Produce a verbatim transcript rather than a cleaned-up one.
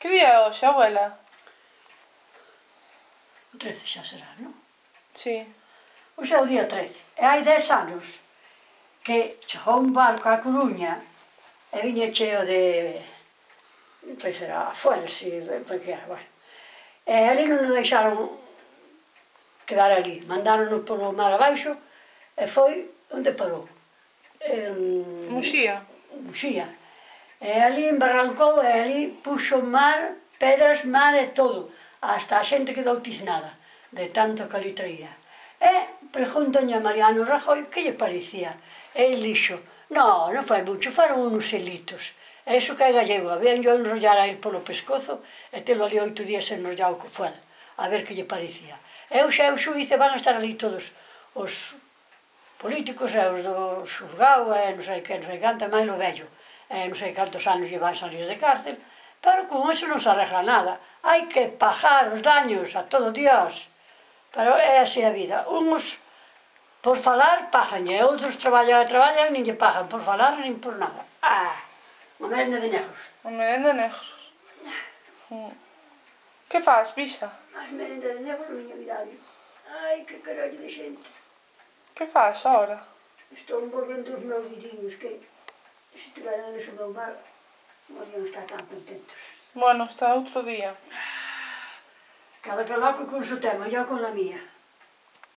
Que día é hoxe, abuela? O trece xa será, non? Si. Hoxe é o día trece. E hai dez anos que chegou un barco á Coruña e viña cheo de... non sei se era fuel, si, porque era, bueno. E ali non nos deixaron quedar ali. Mandáronos polo mar abaixo e foi onde parou. En... Muxía. Muxía. E ali embarrancou e ali puxo mar, pedras, mar e todo. Hasta a xente quedou tisnada de tanto que ali traía. E preguntoña a Mariano Rajoy que lle parecía. E el dixo, no, non foi mucho, foron uns helitos. E iso que é gallego, habían yo enrollar a el polo pescozo e telo ali oito días enrollado co fuel, a ver que lle parecía. E hoxe é o xuíz e van a estar ali todos os políticos e os do xuzgado e non sei que, non sei canto, e máis lo vello. E non sei cantos anos lle van salir de cárcel, pero con eso non se arregla nada. Hai que pagar os daños a todo Dios. Pero é así a vida. Uns, por falar, pagan, e outros traballan e traballan, nin lle pagan por falar, nin por nada. Ah, unha merenda de negros. Unha merenda de negros. Que faz, Pisa? As merenda de negros, miña vidade. Ai, que carallo de xente. Que faz ahora? Estou envolvendo os meus vidiños, que se tiveran eso meu mal, non habían estar tan contentos. Bueno, está outro día. Cada calaco con su tema, yo con la mía.